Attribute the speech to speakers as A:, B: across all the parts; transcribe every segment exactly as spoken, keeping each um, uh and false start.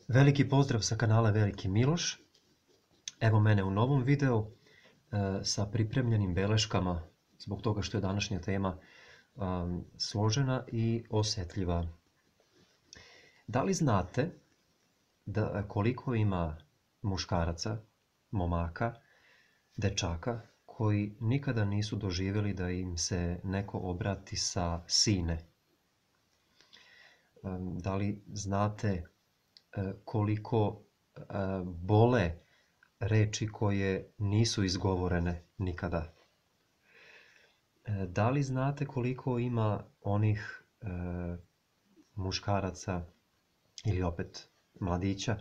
A: Veliki pozdrav sa kanala Veliki Miloš. Evo mene u novom videu e, sa pripremljenim beleškama zbog toga što je današnja tema um, složena i osjetljiva. Da li znate da koliko ima muškaraca, momaka, dečaka koji nikada nisu doživjeli da im se neko obrati sa sine? Um, da li znate koliko bole reči koje nisu izgovorene nikada? Da li znate koliko ima onih e, muškaraca ili opet mladića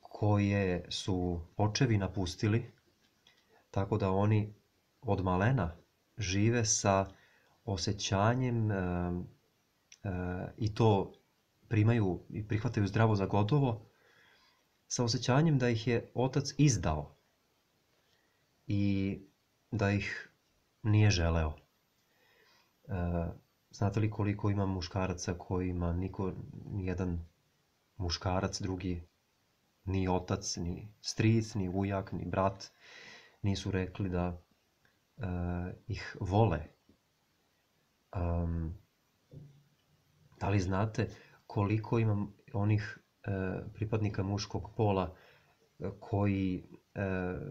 A: koje su očevi napustili, tako da oni od malena žive sa osjećanjem e, e, i to primaju i prihvataju zdravo za gotovo, sa osjećanjem da ih je otac izdao i da ih nije želeo. E, znate li koliko ima muškaraca kojima niko, nijedan muškarac drugi, ni otac, ni stric, ni ujak, ni brat, nisu rekli da e, ih vole? Um, da li znate koliko ima onih e, pripadnika muškog pola e, koji e,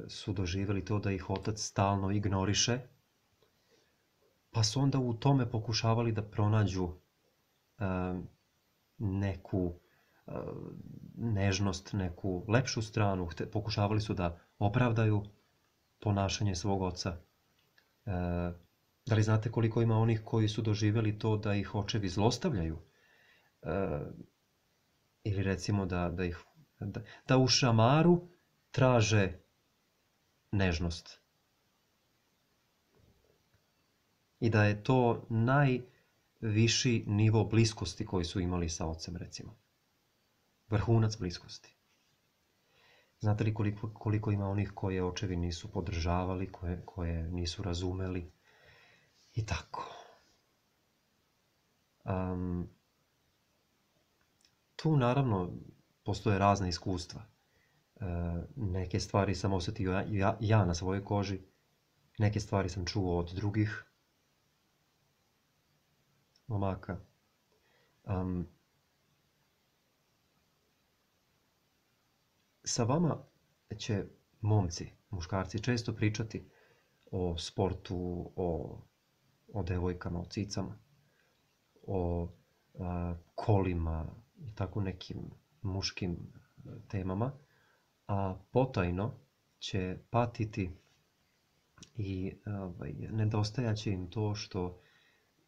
A: su doživjeli to da ih otac stalno ignoriše, pa su onda u tome pokušavali da pronađu e, neku e, nežnost, neku lepšu stranu, Hte, pokušavali su da opravdaju ponašanje svog oca. E, da li znate koliko ima onih koji su doživjeli to da ih očevi zlostavljaju? E, ili recimo da, da, ih, da, da u šamaru traže nežnost. I da je to najviši nivo bliskosti koji su imali sa ocem, recimo. Vrhunac bliskosti. Znate li koliko, koliko ima onih koje očevi nisu podržavali, koje, koje nisu razumeli? I tako. Um, Tu naravno postoje razna iskustva. E, neke stvari sam osjetio ja, ja, ja na svojoj koži, neke stvari sam čuo od drugih momaka. Um, sa vama će momci, muškarci često pričati o sportu, o, o devojkama, o cicama, o a, kolima i tako nekim muškim temama, a potajno će patiti i ovaj, nedostajaće im to što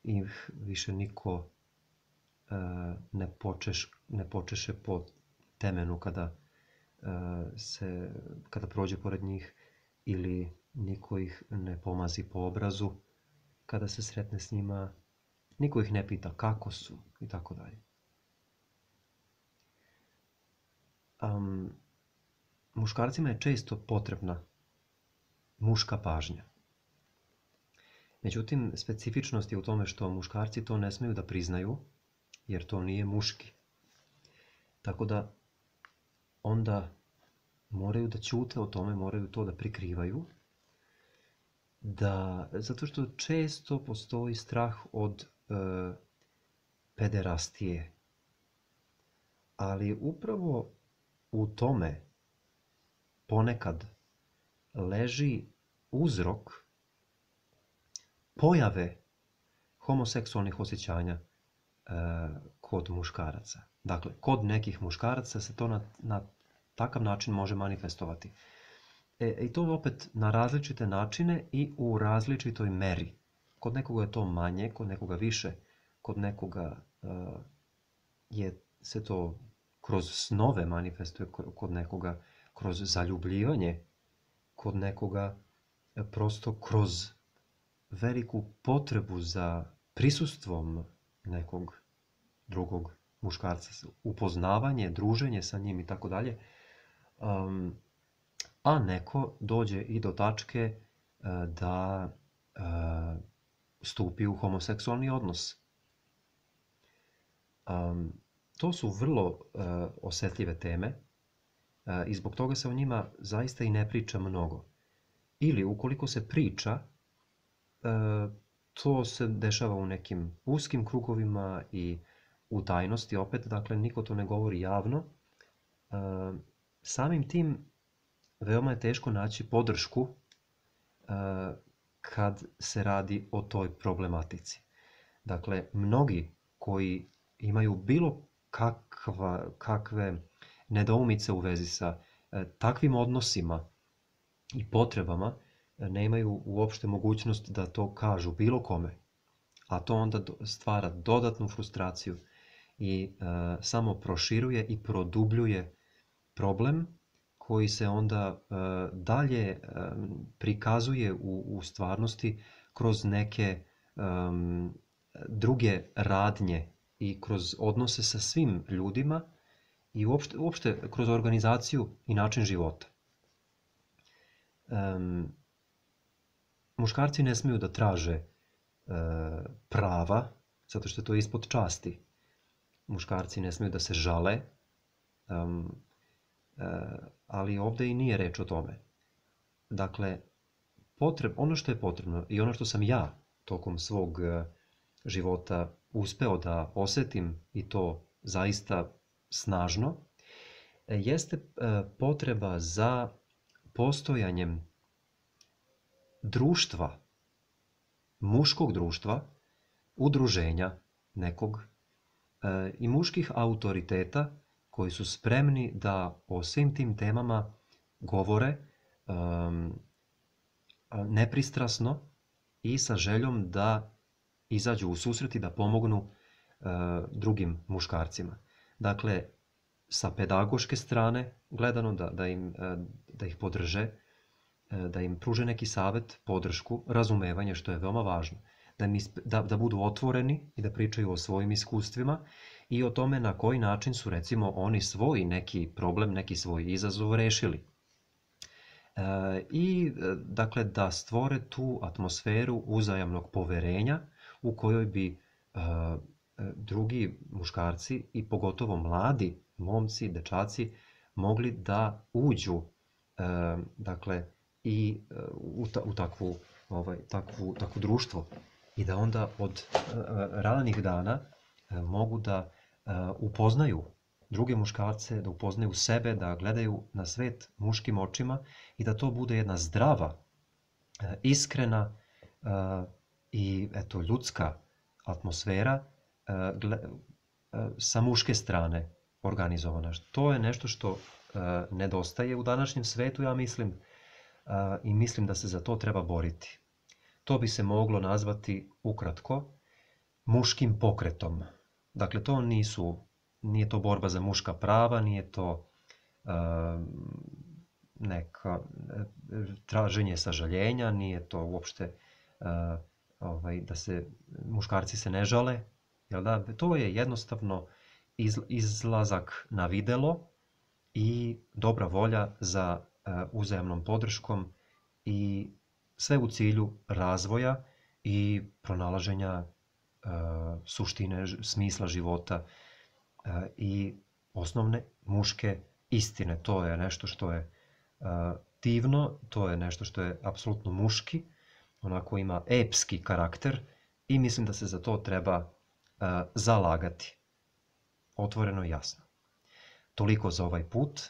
A: ih više niko uh, ne, počeš, ne počeše po temenu kada, uh, se, kada prođe pored njih, ili niko ih ne pomazi po obrazu kada se sretne s njima, niko ih ne pita kako su i tako dalje. Um, muškarcima je često potrebna muška pažnja. Međutim, specifičnost je u tome što muškarci to ne smiju da priznaju, jer to nije muški. Tako da onda moraju da ćute o tome, moraju to da prikrivaju, da, zato što često postoji strah od e, pederastije. Ali upravo u tome ponekad leži uzrok pojave homoseksualnih osjećanja e, kod muškaraca. Dakle, kod nekih muškaraca se to na, na takav način može manifestovati. E, I to opet na različite načine i u različitoj meri. Kod nekoga je to manje, kod nekoga više, kod nekoga e, je se to kroz snove manifestuje, kod nekoga kroz zaljubljivanje, kod nekoga prosto kroz veliku potrebu za prisustvom nekog drugog muškarca, upoznavanje, druženje sa njim i tako dalje. Um, a neko dođe i do tačke uh, da uh, stupi u homoseksualni odnos. Um, to su vrlo uh, osjetljive teme uh, i zbog toga se o njima zaista i ne priča mnogo. Ili ukoliko se priča, uh, to se dešava u nekim uskim krugovima i u tajnosti opet, dakle niko to ne govori javno. Uh, samim tim veoma je teško naći podršku uh, kad se radi o toj problematici. Dakle, mnogi koji imaju bilo kakva, kakve nedoumice u vezi sa e, takvim odnosima i potrebama, e, ne imaju uopšte mogućnost da to kažu bilo kome. A to onda do, stvara dodatnu frustraciju i e, samo proširuje i produbljuje problem koji se onda e, dalje e, prikazuje u, u stvarnosti kroz neke um, druge radnje i kroz odnose sa svim ljudima i uopšte, uopšte kroz organizaciju i način života. Um, muškarci ne smiju da traže uh, prava, zato što je to ispod časti. Muškarci ne smiju da se žale, um, uh, ali ovdje i nije reč o tome. Dakle, potreb, ono što je potrebno i ono što sam ja tokom svog uh, života uspeo da osjetim i to zaista snažno, jeste potreba za postojanjem društva, muškog društva, udruženja nekog i muških autoriteta koji su spremni da o svim tim temama govore um, nepristrasno i sa željom da izađu u susret i da pomognu uh, drugim muškarcima. Dakle, sa pedagoške strane gledano da, da, im, uh, da ih podrže, uh, da im pruže neki savjet, podršku, razumevanje, što je veoma važno. Da, im, da, da budu otvoreni i da pričaju o svojim iskustvima i o tome na koji način su recimo oni svoj neki problem, neki svoj izazov rešili. Uh, I dakle da stvore tu atmosferu uzajamnog poverenja u kojoj bi uh, drugi muškarci i pogotovo mladi momci, dečaci mogli da uđu uh, dakle i uh, u, ta, u takvu, ovaj, takvu, takvu društvo i da onda od uh, ranih dana uh, mogu da uh, upoznaju druge muškarce, da upoznaju sebe, da gledaju na svet muškim očima i da to bude jedna zdrava, uh, iskrena uh, i eto ljudska atmosfera uh, gle, uh, sa muške strane organizovana. To je nešto što uh, nedostaje u današnjem svetu, ja mislim, uh, i mislim da se za to treba boriti. To bi se moglo nazvati ukratko muškim pokretom. Dakle, to nisu, nije to borba za muška prava, nije to uh, neka traženje sažaljenja, nije to uopšte uh, ovaj, da se muškarci se ne žale, jel da? To je jednostavno iz, izlazak na videlo i dobra volja za uh, uzajamnom podrškom i sve u cilju razvoja i pronalaženja uh, suštine, smisla života uh, i osnovne muške istine. To je nešto što je uh, divno, to je nešto što je apsolutno muški, onako ima epski karakter i mislim da se za to treba uh, zalagati. Otvoreno i jasno. Toliko za ovaj put.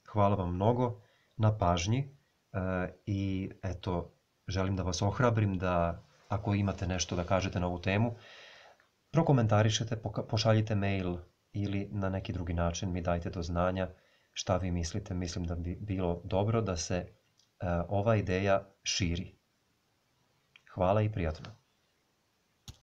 A: Hvala vam mnogo na pažnji uh, i eto, želim da vas ohrabrim da ako imate nešto da kažete na ovu temu, prokomentarišete, pošaljite mail ili na neki drugi način mi dajte do znanja šta vi mislite. Mislim da bi bilo dobro da se uh, ova ideja širi. Hvala i prijatno.